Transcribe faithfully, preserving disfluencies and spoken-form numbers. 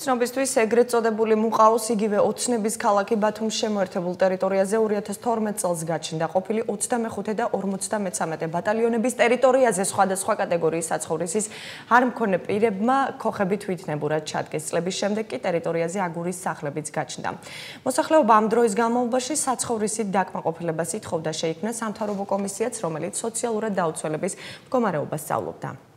ცნობისთვის ეგრეთ წოდებული მუყაოს იგივე ოცნების ქალაქი ბათუმის შემოერთებულ ტერიტორიაზე ორი ათას თორმეტ წელს გაჩნდა. ყოფილი ოცდამეხუთე და ორმოცდამეცამეტე ბატალიონების ტერიტორიაზე სხვადასხვა კატეგორიის საცხოვრისის არ მქონე პირებმა ქოხები თვითნებურად ჩადგეს. წლების შემდეგ კი ტერიტორიაზე აგურის სახლებიც გაჩნდა. მოსახლეობა ამ დროის განმავლობაში საცხოვრისით დაკმაყოფილებას ითხოვდა, შეიქმნა სამთავრობო კომისიაც, რომელიც სოციალურად დაუცველების მდგომარეობას სწავლობდა.